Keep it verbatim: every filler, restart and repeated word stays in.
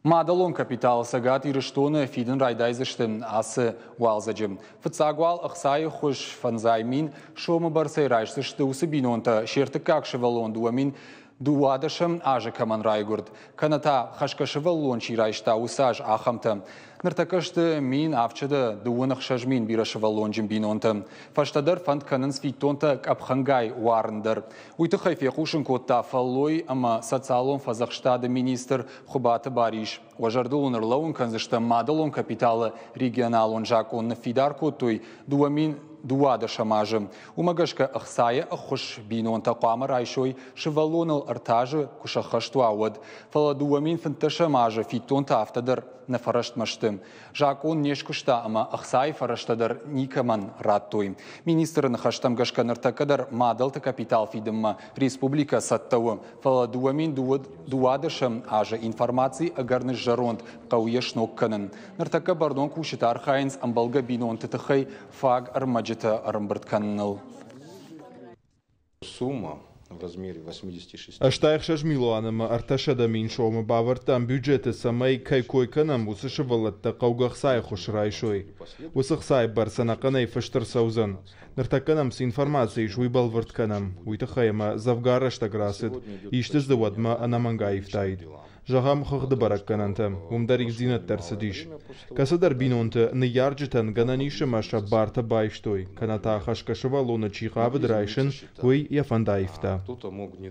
Мадӕлон капитал Цӕгат Ирыстоны фидын райдайдзысты ацы уалдзӕджы. Фыццаг уал ӕхцайы хуыз фӕндзай мин сомы бӕрцӕй райсдзысты уыцы бинонтӕ, се ртыккаг сывӕллон дыууӕ мин дыууадӕсӕм азы кӕмӕн райгуырд, кӕнӕ та хӕсгӕ сывӕллон чи райста, уыцы аз ахӕмтӕ. Ныртӕккӕ сты мин авдсӕдӕ дыууын ӕхсӕз мин бирӕсывӕллонджын бинонтӕ. Фӕстӕдӕр фӕнд кӕнынц фиддонтӕ къӕпхӕнгай уарын дӕр. Уый тыххӕй фехъусын кодта фӕллой ӕмӕ социалон фӕдзӕхстады министр Хуыбаты Барис. Уӕ зӕрдыл уын ӕрлӕууын кӕндзыстӕм, мадӕлон капиталы регионалон закъон ныффидар кодтой дыууӕ мин дыууадӕсӕм азы. Уымӕ гӕсгӕ ӕхцайы ӕххуыс бинонтӕ хъуамӕ райсой сывӕллоныл ӕртӕ азы куы сӕххӕст уа, уӕд. Фӕлӕ дыууӕ мин фынддӕсӕм азы фиддонтӕ афтӕ дӕр нӕ фӕрӕстмӕ сты. Закъон не скуыста ӕмӕ ӕхцайы фӕрӕзтӕ дӕр никӕмӕн радтой. Министры ныхӕстӕм гӕсгӕ ныртӕккӕ дӕр мадӕлты капитал фидынмӕ республикӕ цӕттӕ у. Фӕлӕ дыууӕ мин дыууадӕсӕм азы информаци ӕгӕр ныззӕронд, хъӕуы йӕ сног кӕнын. Ныртӕккӕ бӕрнон кусджытӕ архайынц ӕмбӕлгӕ бинонты тыххӕй фаг ӕрмӕджытӕ ӕрӕмбырд кӕныныл. Сумма в размере восьмидесяти шести. Ӕстай ӕхсӕз милуан ӕмӕ ӕртӕсӕдӕ мин сомы бавӕрдтам бюджеты, цӕмӕй кӕй кой кӕнӕм, уыцы сывӕллӕттӕ хъӕугӕ ӕхцайы ӕххуыс райсой. Уыцы ӕхцайы бӕрц ӕнӕхъӕнӕй фыст ӕрцӕудзӕн. Ныртӕккӕ нӕм цы информаци ис, уый бӕлвырд кӕнӕм. Уый тыххӕй ӕмӕ дзӕвгар рӕстӕг рацыд, исты дзы уӕдмӕ ӕнӕмӕнг аивтаид. Зӕгъӕм, хыгъды бӕрӕггӕнӕнтӕ, уым дӕр ивддзинӕдтӕ ӕрцыдис. Кӕцыдӕр бинонты ныййарджытӕн гӕнӕн ис ӕмӕ сӕ бартӕ байстой, кӕнӕ та хӕсгӕ сывӕллоны чи хъавыд райсын, уый йӕ фӕнд аивта. Кто-то мог не